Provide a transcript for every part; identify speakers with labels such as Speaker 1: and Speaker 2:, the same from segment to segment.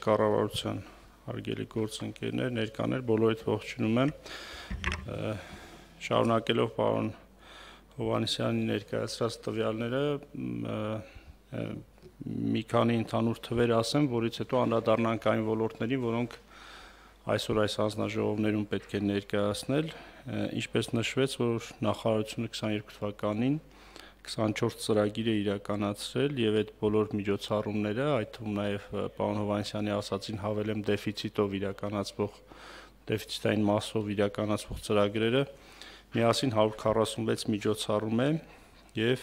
Speaker 1: կառավարության հարգելի գործընկերներ, ներկաներ, բոլորիդ ողջունում եմ։ Շարունակելով պարոն Հովհաննիսյանի ներկայացրած տվյալները, մի քանի ընդհանուր թվեր ասեմ, որից հետո անդրադառնանք այն ոլորտներին, որոնք այսօր այս հանձնաժողովներում պետք է ներկայացնել, ինչպես նշվեց, որ նախարարությունը 22 թվականին 24 ծրագիր է իրականացրել եւ այդ բոլոր միջոցառումները, այդ թվում նաեւ պարոն Հովհաննիսյանի ասացին հավելեմ դեֆիցիտային մասով իրականացվող ծրագրերը միասին 146 միջոցառում է եւ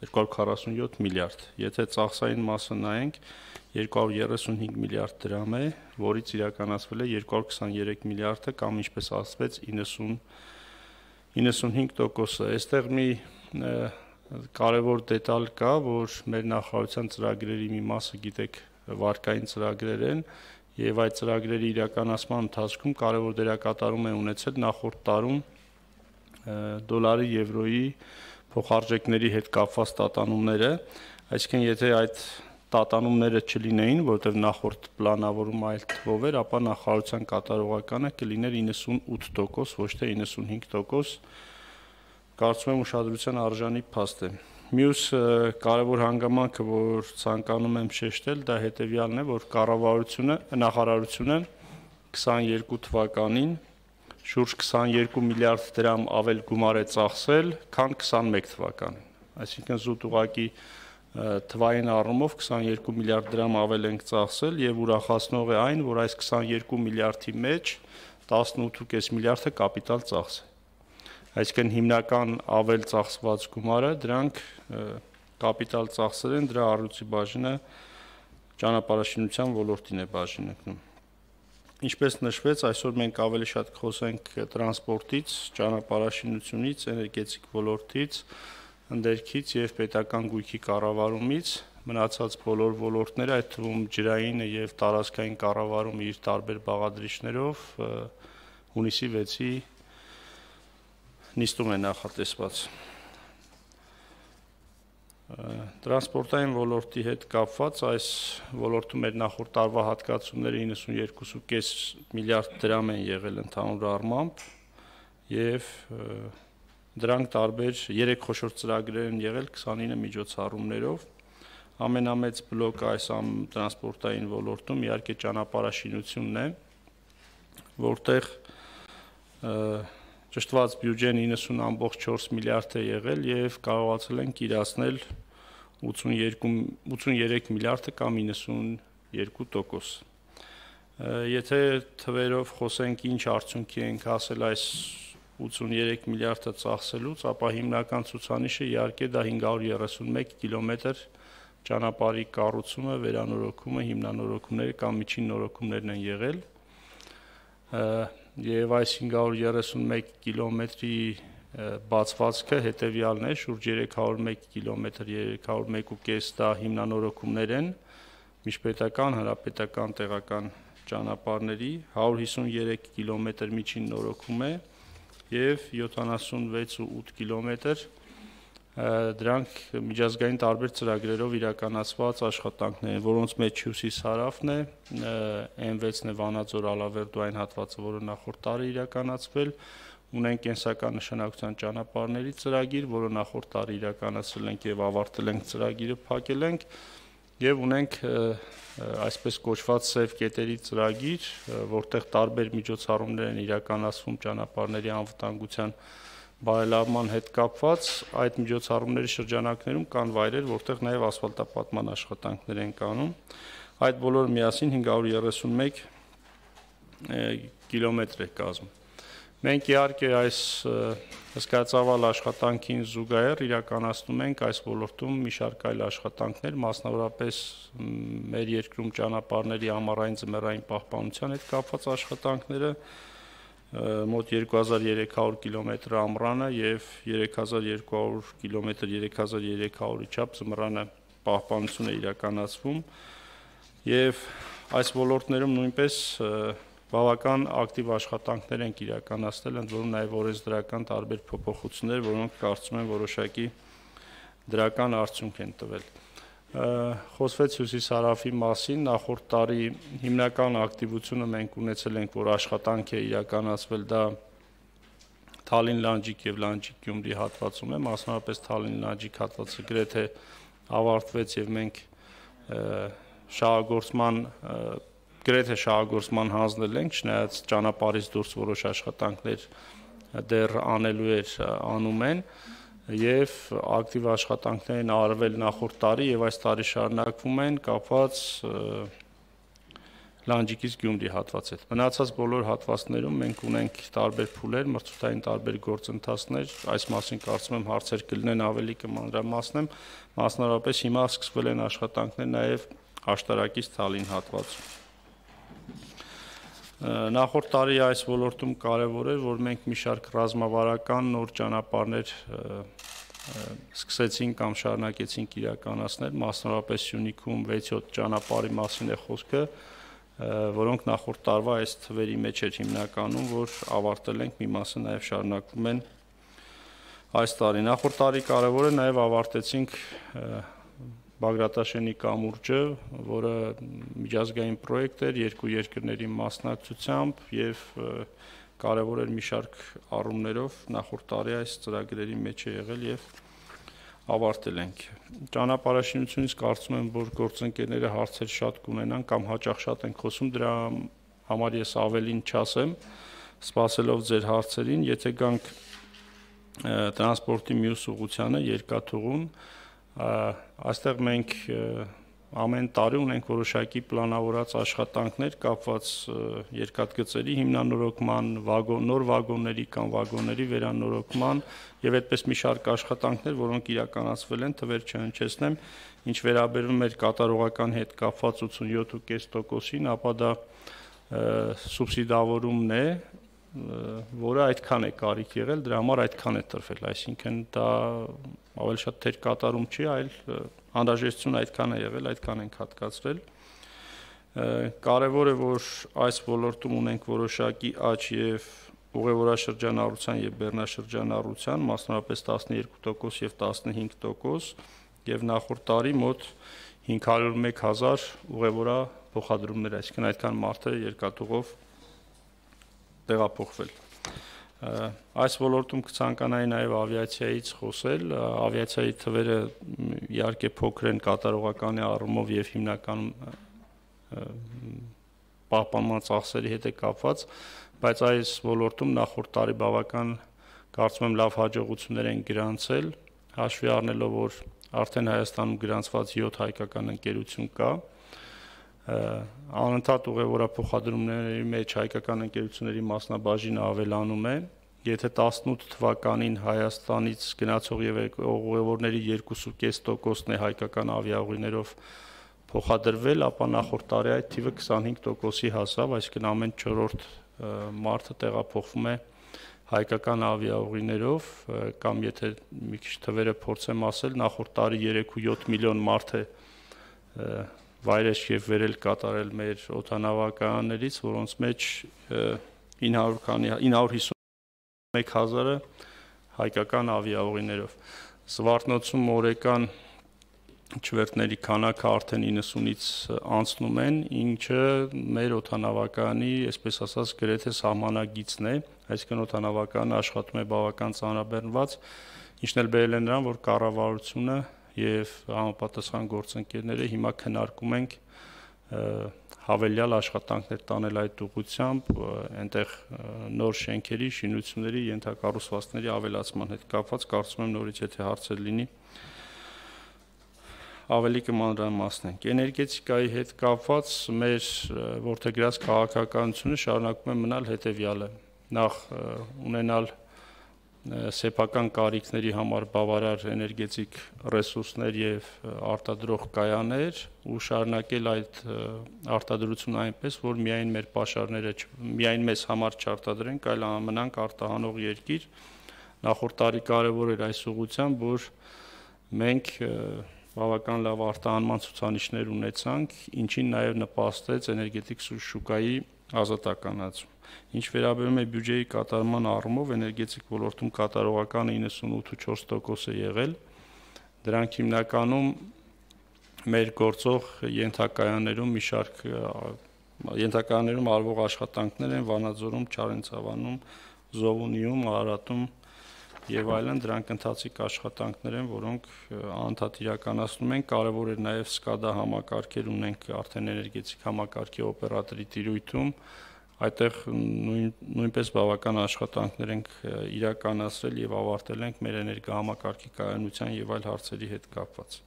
Speaker 1: 247 միլիարդ։ Եթե ծախսային մասը նայենք, 235 միլիարդ դրամ է, որից իրականացվել է 223 միլիարդը կամ ինչպես ասվեց 95%-ը։ Այստեղ մի կարևոր դետալ կա, որ մեր նախարարության ծրագրերի մի մասը գիտեք վարկային ծրագրեր են եւ այդ ծրագրերի իրականացման ընթացքում կարևոր դերակատարում է ունեցել նախորդ տարում դոլարի, եվրոյի փոխարժեքների հետ կապված տատանումները, այսինքն եթե այդ տատանումները չլինեին, որտեղ նախորդ պլանավորումը այլ թվով էր, ապա նախարարության կատարողականը կլիներ 98%, ոչ թե 95%, կարծում եմ ուշադրության արժանի փաստ է։ Մյուս կարևոր հանգամանքը, որ ցանկանում եմ շեշտել, դա հետևյալն է, որ նախարարությունը 22 թվականին շուրջ 22 միլիարդ դրամ ավել գումար է ծախսել, քան 21 թվականին։ Այսինքն զուտ ուղղակի թվային առումով 22 միլիարդ դրամ ավել ենք ծախսել եւ ուրախացնող է այն, որ այս 22 միլիարդի մեջ 18.5 միլիարդը կապիտալ ծախս է։ Այսինքն հիմնական ավել ծախսված գումարը դրանք կապիտալ ծախսեր են, դրա առյուծի բաժինը ճանապարհաշինության ոլորտին է բաժանվում։ Ինչպես նշվեց, այսօր մենք ավելի շատ կխոսենք տրանսպորտից, ճանապարհաշինությունից, էներգետիկ ոլորտից, ընդերքից եւ պետական գույքի կառավարումից, մնացած բոլոր ոլորտները, այդ թվում ջրայինը եւ տարածքային կառավարումը իր տարբեր բաղադրիչներով հունիսի 6-ի նիստում է նախատեսված։ Տրանսպորտային ոլորտի հետ կապված այս ոլորտում մեր նախորդ տարվա հատկացումները 92.5 միլիարդ դրամ են եղել ընդհանուր առմամբ եւ դրանք տարբեր 3 խոշոր ծրագրեր են եղել 29 միջոցառումներով։ Ամենամեծ բլոկը այս տրանսպորտային ոլորտում իհարկե ճանապարհաշինությունն է, որտեղ ճշտված բյուջեն 90.4 միլիարդ է եղել եւ կարողացել ենք իրացնել 83 միլիարդը կամ 92%։ Եթե թվերով խոսենք ինչ արդյունքի ենք հասել այս 83 միլիարդը ծախսելուց, ապա հիմնական ցուցանիշը իհարկե դա 531 կիլոմետր ճանապարհի կառուցումը, վերանորոգումը, հիմնանորոգումները կամ միջին նորոգումներն են եղել։ Եվ այս 531 կիլոմետրի բացվածքը հետևյալն է, շուրջ 301 կիլոմետր, 301.5 դա հիմնանորոգումներ են, միջպետական, հանրապետական, տեղական ճանապարհների, 153 կիլոմետր միջին նորոգում է եւ 76.8 կիլոմետր դրանք միջազգային տարբեր ծրագրերով իրականացված աշխատանքներ են, որոնց մեջ Հյուսիս-Հարավն է, M6-ն է Վանաձոր-Ալավերդու այն հատվածը, որը նախորդ տարի իրականացվել, ունենք կենսական նշանակության ճանապարհների ծրագիր, որը նախորդ տարի իրականացրել ենք եւ ավարտել ենք ծրագիրը, փակել ենք, եւ ունենք այսպես կոչված սև կետերի ծրագիր, որտեղ տարբեր միջոցառումներ են իրականացվում ճանապարհների անվտանգության բարելավման հետ կապված, այդ միջոցառումների շրջանակներում կան վայրեր, որտեղ նաև ասֆալտապատման աշխատանքներ են կանում։ Այդ բոլորը միասին 531 կիլոմետր է կազմում։ Մենք իհարկե այս հսկայածավալ աշխատանքին զուգահեռ իրականացնում ենք այս ոլորտում մի շարք այլ աշխատանքներ, մասնավորապես մեր երկրում ճանապարհների ամառային ձմեռային պահպանության հետ կապված աշխատանքները, մոտ 2300 կիլոմետր ամռանը եւ 3200 կիլոմետր 3300-ի չափ ձմռանը պահպանություն է իրականացվում եւ այս ոլորտներում նույնպես բավական ակտիվ աշխատանքներ ենք իրականացնել, ընդ որում նաեւ օրենսդրական տարբեր փոփոխություններ, որոնք կարծում եմ որոշակի դրական արդյունք են տվել։ Խոսվեց հյուսիս-հարավի մասին, նախորդ տարի հիմնական ակտիվությունը մենք ունեցել ենք, որ աշխատանք է իրականացվել, դա Թալին-Լանջիկ եւ Լանջիկ-Գյումրի հատվածում է, մասնավորապես Թալին-Լանջիկ հատվածը գրեթե ավարտվեց եւ մենք գրեթե շահագործման հանձնել ենք, չնայած ճանապարհից դուրս որոշ աշխատանքներ դեռ անելու էր անում են եւ ակտիվ աշխատանքներ են արվել նախորդ տարի եւ այս տարի շարունակվում են կապված Լանջիկից Գյումրի հատվածի հետ։ Մնացած բոլոր հատվածներում մենք ունենք տարբեր փուլեր, մրցութային տարբեր գործընթացներ, այս մասին կարծում եմ հարցեր կլինեն, ավելի կմանրամասնեմ, մասնավորապես հիմա սկսվել են աշխատանքներ նաեւ աշտարակից Թալին հատվածում։ Նախորդ տարի այս ոլորտում կարևոր էր, որ մենք մի շարք ռազմավարական նոր ճանապարհներ սկսեցինք կամ շարունակեցինք իրականացնել, մասնավորապես Սյունիքում 6-7 ճանապարհի մասին է խոսքը, որոնք նախորդ տարվա այս թվերի մեջ էր հիմնականում, որ ավարտել ենք, մի մասը նաև շարունակվում են այս տարի։ Նախորդ տարի կարևոր է նաև ավարտեցինք Բագրատաշենի կամուրջը, որը միջազգային պրոյեկտ էր երկու երկրների մասնակցությամբ եւ կարևոր էր մի շարք առումներով նախորդ տարի այս ծրագրերի մեջ է եղել եւ ավարտել ենք։ Ճանապարհաշինությունից կարծում եմ, որ գործընկերները հարցեր շատ կունենան կամ հաճախ շատ են խոսում, դրա համար ես ավելին չասեմ, սպասելով ձեր հարցերին, եթե գանք տրանսպորտի մյուս ուղղությանը երկաթուղուն, այստեղ մենք ամեն տարի ունենք որոշակի պլանավորած աշխատանքներ կապված երկաթգծերի հիմնանորոգման, նոր վագոնների կամ վագոնների վերանորոգման եւ այդպես մի շարք աշխատանքներ, որոնք իրականացվել են, թվեր չհնչեցնեմ, ինչ վերաբերում էր կատարողական հետ կապված 87.5%-ին, ապա դա սուբսիդավորումն է, որը այդքան է կարիք եղել, դրա համար այդքան է տրվել, այսինքն դա ավելի շատ թեր կատարում չի, այլ անհրաժեշտություն այդքան է եղել, այդքան ենք հատկացրել։ Կարևոր է, որ այս ոլորտում ունենք որոշակի աճ եւ ուղևորաշրջանառության եւ բեռնաշրջանառության, մասնավորապես 12% եւ 15% եւ նախորդ տարի մոտ 501,000 ուղևորա փոխադրումներ, այսինքն այդքան մարդը երկաթուղով տեղափոխվել։ Այս ոլորտում կցանկանայի նաև ավիացիայից խոսել, ավիացիայի թվերը իհարկե փոքր են կատարողականի առումով եւ հիմնականում պահպանման ծախսերի հետ է կապված, բայց այս ոլորտում նախորդ տարի բավական կարծում եմ լավ հաջողություններ են գրանցել, հաշվի առնելով, որ արդեն Հայաստանում գրանցված 7 հայկական ընկերություն կա, անընդհատ ուղևորափոխադրումների մեջ հայկական ընկերությունների մասնաբաժինը ավելանում է, եթե 18 թվականին Հայաստանից գնացող եւ ուղևորների 2.5%-ն է հայկական ավիաուղիներով փոխադրվել, ապա նախորդ տարի այդ թիվը 25%-ի հասավ, այսինքն ամեն 4-րդ մարդը տեղափոխվում է հայկական ավիաուղիներով, կամ եթե մի քիչ թվերը փորձեմ ասել, նախորդ տարի 3.7 միլիոն մարդ է վայրեջք եւ վերել կատարել մեր օդանավակայաններից, որոնց մեջ 951,000-ը հայկական ավիաուղիներով։ Զվարթնոցում օրեկան չվերթների քանակը արդեն 90-ից անցնում են, ինչը մեր օդանավակայանի, այսպես ասած, գրեթե սահմանագիծն է, այսինքն օդանավակայանը աշխատում է բավական ծանրաբեռնված, ինչն էլ բերել է նրան, որ կառավարությունը եւ համապատասխան գործընկերները հիմա քննարկում ենք հավելյալ աշխատանքներ տանել այդ ուղղությամբ, այնտեղ նոր շենքերի, շինությունների, ենթակառուցվածքների ավելացման հետ կապված, կարծում եմ նորից եթե հարցեր լինի, ավելի կմանրամասնենք։ Էներգետիկայի հետ կապված մեր որդեգրած քաղաքականությունը շարունակում է մնալ հետևյալը. նախ ունենալ սեփական կարիքների համար բավարար էներգետիկ ռեսուրսներ եւ արտադրող կայաններ ու շարունակել այդ արտադրությունը այնպես, որ միայն մեր պաշարները միայն մեզ համար չարտադրենք, այլ մնանք արտահանող երկիր։ Նախորդ տարի կարևոր էր այս ուղղությամբ, որ մենք բավական լավ արտահանման ցուցանիշներ ունեցանք, ինչին նաև նպաստեց էներգետիկ շուկայի ազատականացում։ Ինչ վերաբերում է բյուջեի կատարման առումով, էներգետիկ ոլորտում կատարողականը 98.4% է եղել։ Դրանք հիմնականում մեր գործող ենթակայաններում մի շարք ենթակայաններում արվող աշխատանքներ են Վանաձորում, Չարենցավանում, Զովունիում, Արարատում եւ այլն, դրանք ընթացիկ աշխատանքներ են, որոնք անդադ իրականացնում են։ Կարևոր է նաեւ SCADA համակարգեր ունենք արդեն էներգետիկ համակարգի օպերատորի տիրույթում, այդտեղ նույնպես բավական աշխատանքներ ենք իրականացրել եւ ավարտել ենք մեր էներգահամակարգի կայանության եւ այլ հարցերի հետ կապված։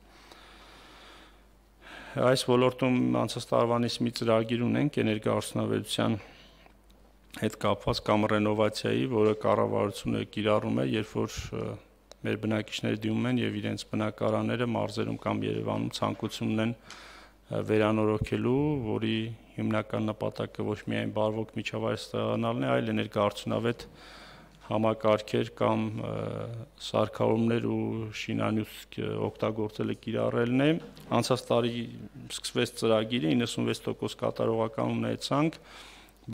Speaker 1: Այս ոլորտում անցած տարվանից մի ծրագիր ունենք էներգոարդյունաբերության հետ կապված կամ ռենովացիայի, որը կառավարությունը կիրառում է, երբ որ մեր բնակիչները դիմում են եւ իրենց բնակարանները մարզերում կամ Երևանում ցանկություն ունեն վերանորոգելու, որի հիմնական նպատակը ոչ միայն բարվոք միջավայր ստեղծանալն է, այլ էներգոարդյունավետ համակարգեր կամ սարքավորումներ ու շինանյութ օգտագործելը կիրառելն է։ Անցած տարի սկսվեց ծրագիրը, 96% կատարողական ունեցանք,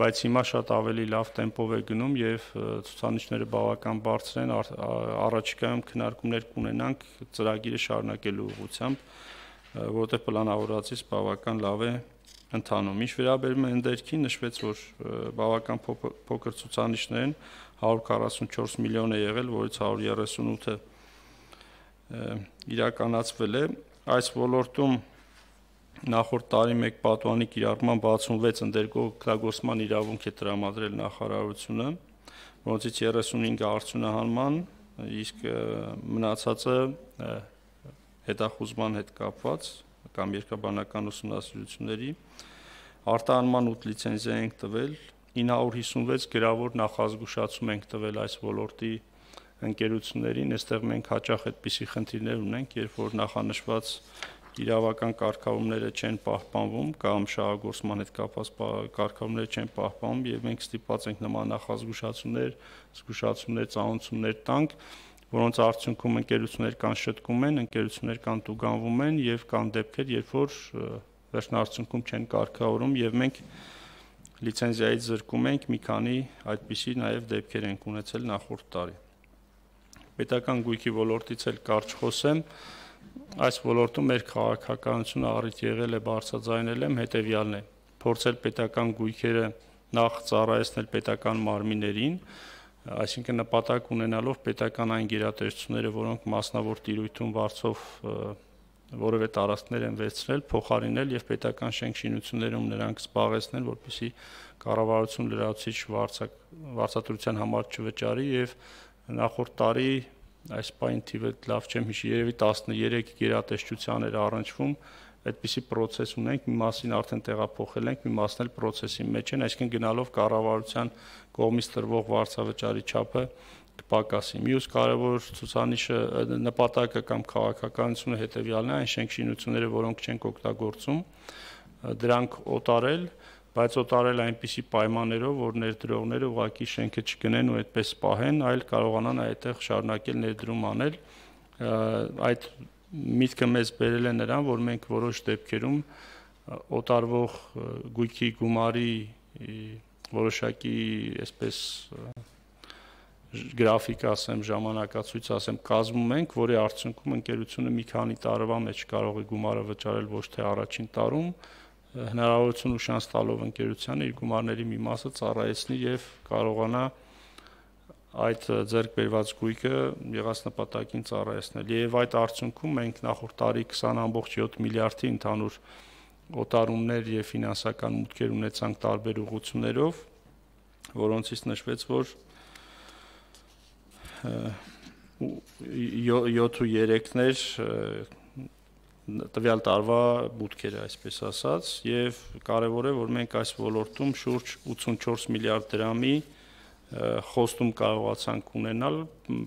Speaker 1: բայց հիմա շատ ավելի լավ տեմպով է գնում եւ ցուցանիշները բավական բարձր են, առաջիկայում քննարկումներ կունենանք ծրագիրը շարունակելու ուղղությամբ, որտեղ պլանավորածից բավական լավ է ընթանում։ Ինչ վերաբերում է ընդերքին, նշվեց, որ բավական փոքր ցուցանիշներ են, 144 միլիոն է եղել, որից 138-ը իրականացվել է։ Այս ոլորտում նախորդ տարի մեկ պատուհանի կիրառման 66 ընդերքող օգտագործման իրավունք է տրամադրել նախարարությունը, որոնցից 35-ը արդյունահանման, իսկ մնացածը հետախուզման հետ կապված կամ երկրաբանական ուսումնասիրությունների արտահանման 8 լիցենզիա ենք տվել, 956 գրավոր նախազգուշացում ենք տվել այս ոլորտի ընկերություններին, այստեղ մենք հաճախ այդպիսի խնդիրներ ունենք, երբ որ նախանշված իրավական կարգավորումները չեն պահպանվում կամ շահագործման հետ կապված կարգավորումները չեն պահպանվում եւ մենք ստիպված ենք նման նախազգուշացումներ, զգուշացումներ, ծանոթություններ տանք, որոնց արդյունքում ընկերություններ կան շտկում են, ընկերություններ կան տուգանվում են եւ կան դեպքեր, երբ որ վերջնարդյունքում չեն կարգավորում եւ մենք լիցենզիայից զրկում ենք մի քանի այդպիսի նաեւ դեպքեր ենք ունեցել նախորդ տարի։ Պետական գույքի ոլորտից էլ կարճ խոսեմ, այս ոլորտում մեր քաղաքականությունը առիթ եղել է բարձրաձայնել եմ հետեւյալն է. փորձել պետական գույքերը նախ ծառայեցնել պետական մարմիններին, այսինքն նպատակ ունենալով պետական այն գերատեսչությունները, որոնք մասնավոր տիրույթում վարձով որևէ տարածքներ են վերցրել, փոխարինել եւ պետական շենքշինություններում նրանք զբաղեցնել, որպեսզի կառավարություն լրացուցիչ վարձատրության համար չվճարի եւ նախորդ տարի այս պայն թիվը լավ չեմ հիշի, երևի 13 գերատեսչության էր առնչվում, այդպիսի process ունենք, մի մասին արդեն տեղափոխել ենք, մի մասն էլ process-ի մեջ են, այսինքն գնալով կառավարության կողմից տրվող վարձավճարի չափը կպակասի։ Մյուս կարևոր ցուցանիշը նպատակը կամ քաղաքականությունը հետեւյալն է, այն շենքշինությունները, որոնք չենք օգտագործում, դրանք օտարել, բայց օտարել այնպիսի պայմաններով, որ ներդրողները ուղղակի շենքը չգնեն ու այդպես պահեն, այլ կարողանան այդտեղ շարունակել ներդրում անել։ Այդ միտքը մեզ բերել է նրան, որ մենք որոշ դեպքերում օտարվող գույքի գումարի որոշակի այսպես գրաֆիկ ասեմ, ժամանակացույց ասեմ, կազմում ենք, որի արդյունքում ընկերությունը մի քանի տարվա մեջ կարող է գումարը վճարել ոչ թե առաջին տարում, հնարավորություն ու շանս տալով ընկերությանը իր գումարների մի մասը ծառայեցնի եւ կարողանա այդ ձեռք բերված գույքը եղած նպատակին ծառայեցնել։ Եվ այդ արդյունքում մենք նախորդ տարի 20.7 միլիարդի ընդհանուր օտարումներ եւ ֆինանսական մուտքեր ունեցանք տարբեր ուղղություններով, որոնցից նշվեց, որ 7.3-ներ տվյալ տարվա մուտքերը, այսպես ասած, եւ կարեւոր է, որ մենք այս ոլորտում շուրջ 84 միլիարդ դրամի խոստում կարողացանք ունենալ,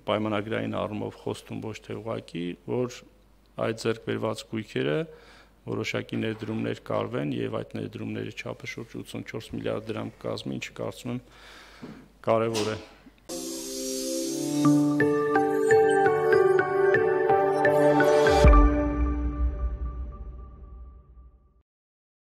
Speaker 1: պայմանագրային առումով խոստում ոչ թե ուղղակի, որ այդ ձեռք բերված գույքերը որոշակի ներդրումներ կարվեն եւ այդ ներդրումների չափը շուրջ 84 միլիարդ դրամ կազմի, ինչը կարծում եմ կարեւոր է։